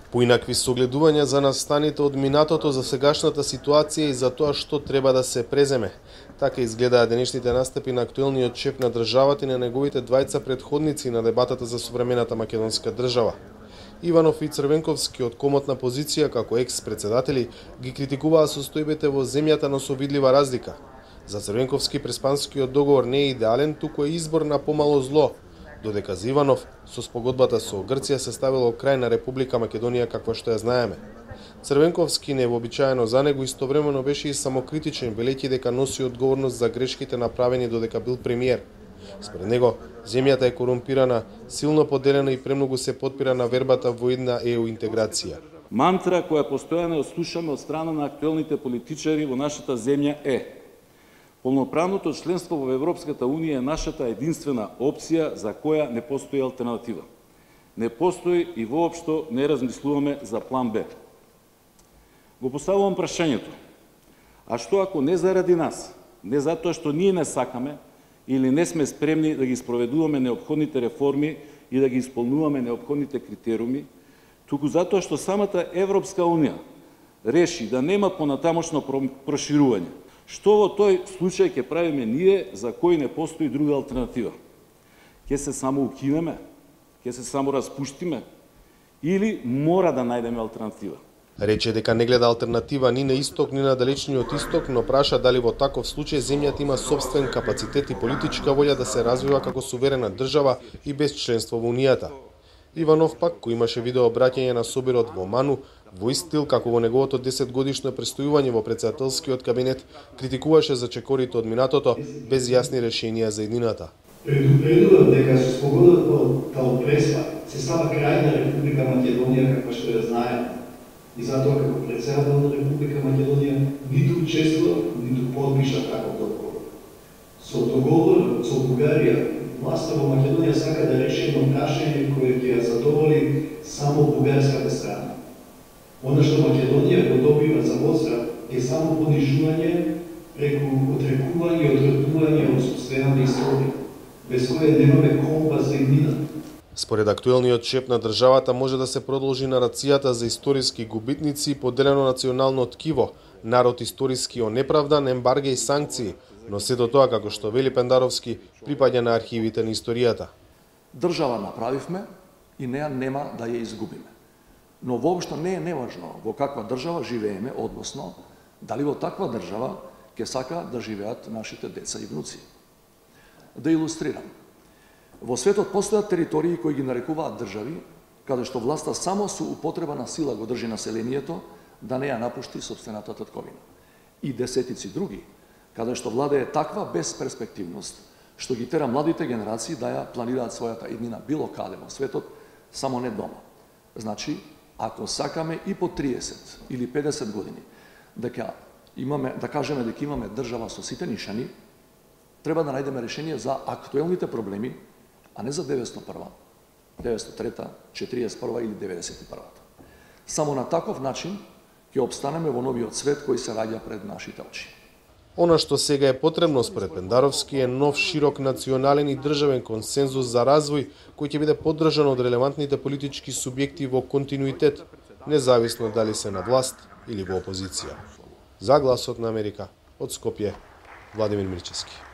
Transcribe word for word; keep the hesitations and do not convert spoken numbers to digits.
Поинакви согледувања за настаните од минатото за сегашната ситуација и за тоа што треба да се преземе. Така изгледаа денешните настапи на актуелниот шеф на државата и на неговите двајца претходници на дебатата за современата македонска држава. Иванов и Црвенковски од комотна позиција како екс-председатели ги критикуваа состојбите во земјата, но со видлива разлика. За Црвенковски преспанскиот договор не е идеален, туку е избор на помало зло, додека за Иванов со спогодбата со Грција се ставило крај на Република Македонија каква што ја знаеме. Црвенковски невообичаено за него истовремено беше и самокритичен, велејќи дека носи одговорност за грешките направени додека бил премиер. Според него, земјата е корумпирана, силно поделена и премногу се потпира на вербата во една е у интеграција. Мантра која постојано слушаме од страна на актуелните политичари во нашата земја е: полноправното членство во Европската Унија е нашата единствена опција за која не постои алтернатива. Не постои и воопшто не размислуваме за план Б. Го поставувам прашањето: а што ако не заради нас, не затоа што ние не сакаме или не сме спремни да ги спроведуваме неопходните реформи и да ги исполнуваме неопходните критериуми, туку затоа што самата Европска Унија реши да нема понатамошно проширување? Што во тој случај ќе правиме ние за кој не постои друга алтернатива? Ќе се само укинеме? Ќе се само распуштиме? Или мора да најдеме алтернатива? Рече дека не гледа алтернатива ни на исток, ни на далечниот исток, но праша дали во таков случај земјата има собствен капацитет и политичка волја да се развива како суверена држава и без членство во Унијата. Иванов пак, кој имаше видео обраќање на собирот во Ману, во ист стил како во неговото десетгодишно престојување во претседателскиот кабинет, критикуваше за чекорите од минатото без јасни решенија за иднината. Предупредувам дека со спогодбата од Преспа се става крај на Република Македонија каква што ја знаеме. И затоа како председател на Република Македонија ниту учествува, ниту подпиша таков договор. Со договор со Бугарија, власта во Македонија сака да реши едно прашање кое ќе ја задоволи само бугарската страна. Она што Македонија го добива за возврат е само понижување преку отрекување и одредување од собствената историја, без која немаме компас за иднината. Според актуелниот шеф на државата може да се продолжи нарацијата за историски губитници и поделено национално ткиво, народ историски онеправдан, ембарге и санкции, но сето тоа, како што вели Пендаровски, припаѓа на архивите на историјата. Држава направивме и неа нема да ја изгубиме. Но воопшто не е неважно во каква држава живееме, односно дали во таква држава ќе сака да живеат нашите деца и внуци. Да илустрирам. Во светот постојат територии кои ги нарекуваат држави, каде што власта само со употреба на сила го држи населението да не ја напушти собствената татковина. И десетици други, каде што владее таква безперспективност, што ги тера младите генерации да ја планираат својата иднина било каде во светот, само не дома. Значи, ако сакаме и по триесет или педесет години дека имаме, да кажеме дека имаме држава со сите нишани, треба да најдеме решение за актуелните проблеми, а не за деветстотини и прва, деветстотини и трета, четириесет и прва или деветдесет и прва. Само на таков начин ќе опстанеме во новиот свет кој се раѓа пред нашите очи. Она што сега е потребно според Пендаровски е нов широк национален и државен консензус за развој кој ќе биде поддржан од релевантните политички субјекти во континуитет, независно дали се на власт или во опозиција. За Гласот на Америка, од Скопје, Владимир Мирчевски.